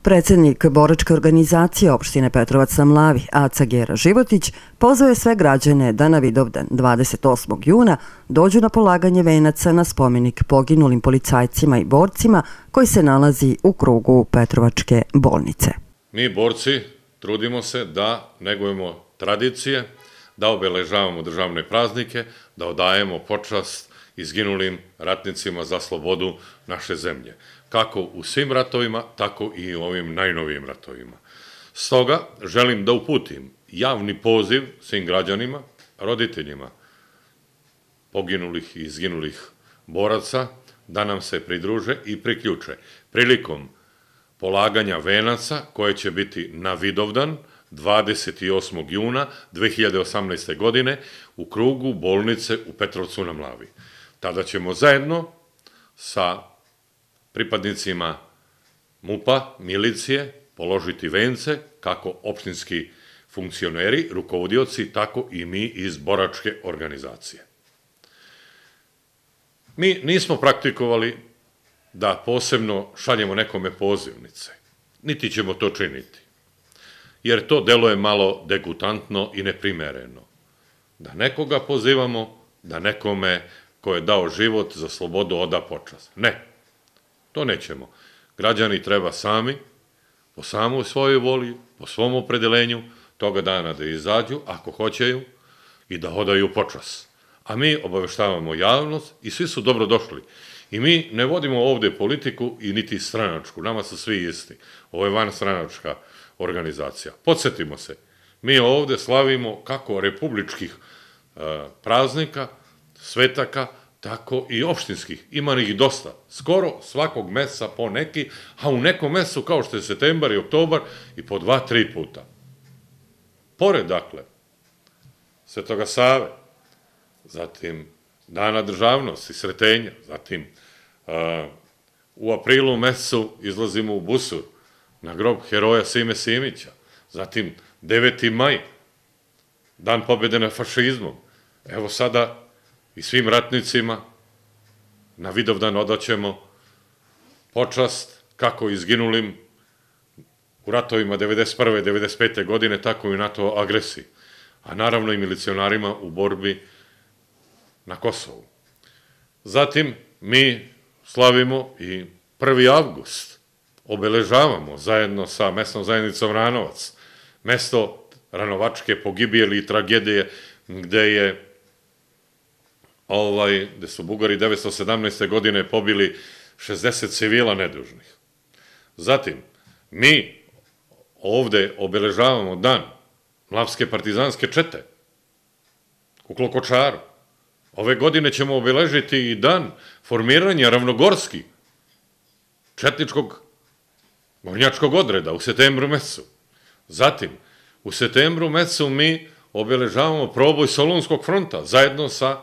Predsednik boračke organizacije opštine Petrovac na Mlavi, Aca Gera Životić, pozvao je sve građane da na Vidovdan 28. juna dođu na polaganje venaca na spomenik poginulim policajcima i borcima koji se nalazi u krugu Petrovačke bolnice. Mi borci trudimo se da negujemo tradicije, da obeležavamo državne praznike, da odajemo počast izginulim ratnicima za slobodu naše zemlje. Kako u svim ratovima, tako i u ovim najnovijim ratovima. Stoga želim da uputim javni poziv svim građanima, roditeljima poginulih i izginulih boraca, da nam se pridruže i priključe prilikom polaganja venaca koje će biti na Vidovdan 28. juna 2018. godine u krugu bolnice u Petrovcu na Mlavi. Tada ćemo zajedno sa pripadnicima MUP-a, milicije, položiti vence, kako opštinski funkcioneri, rukovodioci, tako i mi iz boračke organizacije. Mi nismo praktikovali da posebno šaljemo nekome pozivnice, niti ćemo to činiti, jer to deluje malo degutantno i neprimereno. Da nekoga pozivamo, da nekome ko je dao život za slobodu oda počast. Ne. To nećemo. Građani treba sami, po samoj svojoj voli, po svom opredelenju, toga dana da izađu, ako hoćeju, i da odaju počast. A mi obaveštavamo javnost i svi su dobro došli. I mi ne vodimo ovde politiku i niti stranačku, nama su svi isti. Ovo je vanstranačka organizacija. Podsjetimo se, mi ovde slavimo kako republičkih praznika, svetaka, tako i opštinskih. Ima ih dosta. Skoro svakog meseca po neki, a u nekom mesecu kao što je septembar i oktobar i po 2-3 puta. Pored, dakle, Svetoga Save, zatim Dana državnosti, Sretenja, zatim u aprilu mesecu izlazimo u Busur na grob heroja Sime Simića, zatim 9. maj, Dan pobjede nad fašizmom. Evo sada i svim ratnicima na Vidovdan odaćemo počast kako izginulim u ratovima 1991. i 1995. godine, tako i u NATO agresiji, a naravno i milicionarima u borbi na Kosovu. Zatim mi slavimo i 1. avgust, obeležavamo zajedno sa mesnom zajednicom Ranovac, mesto ranovačke pogibijeli i tragedije gde su Bugari 1917. godine pobili 60 civila nedužnih. Zatim, mi ovde obeležavamo dan Mlavske partizanske čete u Klokočaru. Ove godine ćemo obeležiti i dan formiranja Ravnogorski četničkog gornjačkog odreda u septembru mesecu. Zatim, u septembru mesecu mi obeležavamo proboj Solunskog fronta zajedno sa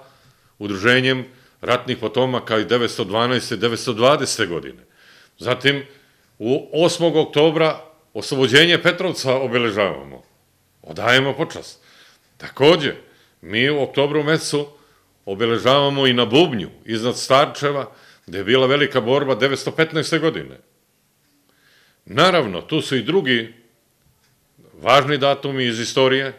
Udruženjem ratnih potomaka iz 1912. i 1920. godine. Zatim, u 8. oktobra oslobođenje Petrovca obeležavamo. Odajemo počast. Takođe, mi u oktobru mesecu obeležavamo i na Bubnju, iznad Starčeva, gde je bila velika borba 1915. godine. Naravno, tu su i drugi važni datumi iz istorije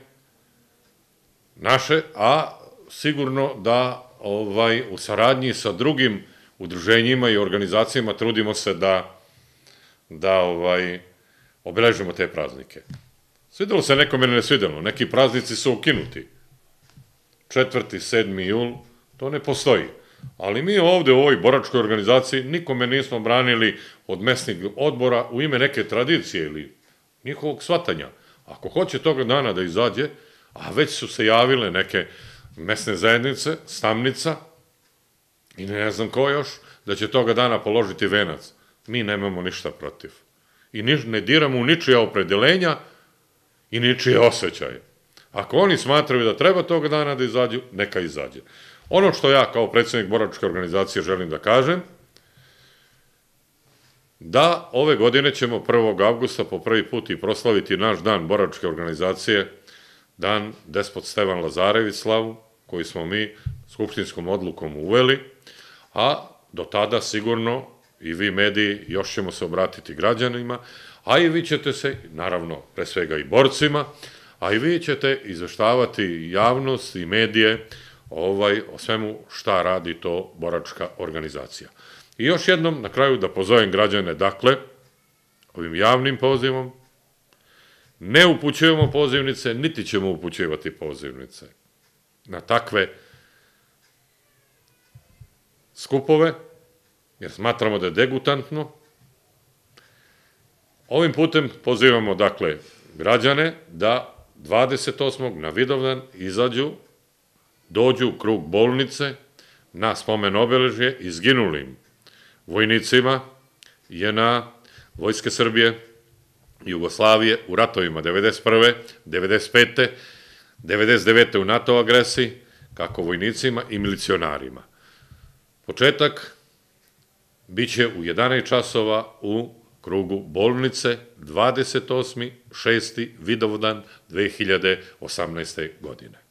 naše, a sigurno da u saradnji sa drugim udruženjima i organizacijama trudimo se da obeležimo te praznike. Svidelo se nekome ne svidelo, neki praznici su ukinuti. 4. 7. jul, to ne postoji. Ali mi ovde u ovoj boračkoj organizaciji nikome nismo branili od mesnih odbora u ime neke tradicije ili njihovog shvatanja. Ako hoće toga dana da izađe, a već su se javile neke mesne zajednice, Stamnica i ne znam ko još, da će toga dana položiti venac. Mi nemamo ništa protiv. I ne diramo u ničija opredelenja i ničije osjećaje. Ako oni smatraju da treba toga dana da izađu, neka izađe. Ono što ja kao predsednik boračke organizacije želim da kažem, da ove godine ćemo 1. avgusta po prvi put i proslaviti naš dan boračke organizacije, dan Despot Stevan Lazarević slavu, koji smo mi skupštinskom odlukom uveli, a do tada sigurno i vi mediji još ćemo se obratiti građanima, a i vi ćete se, naravno, pre svega i borcima, a i vi ćete izveštavati javnost i medije o svemu šta radi to boračka organizacija. I još jednom, na kraju, da pozovem građane, dakle, ovim javnim pozivom, ne upućujemo pozivnice, niti ćemo upućivati pozivnice na takve skupove, jer smatramo da je degutantno. Ovim putem pozivamo, dakle, građane da 28. na Vidovdan izađu, dođu u krug bolnice na spomen obeležje izginulim vojnicima JNA, Vojske Srbije, Jugoslavije u ratovima 91. 95. 99. u NATO agresiji, kako vojnicima i milicionarima. Početak biće u 11 časova u krugu bolnice 28.6. Vidovdan 2018. godine.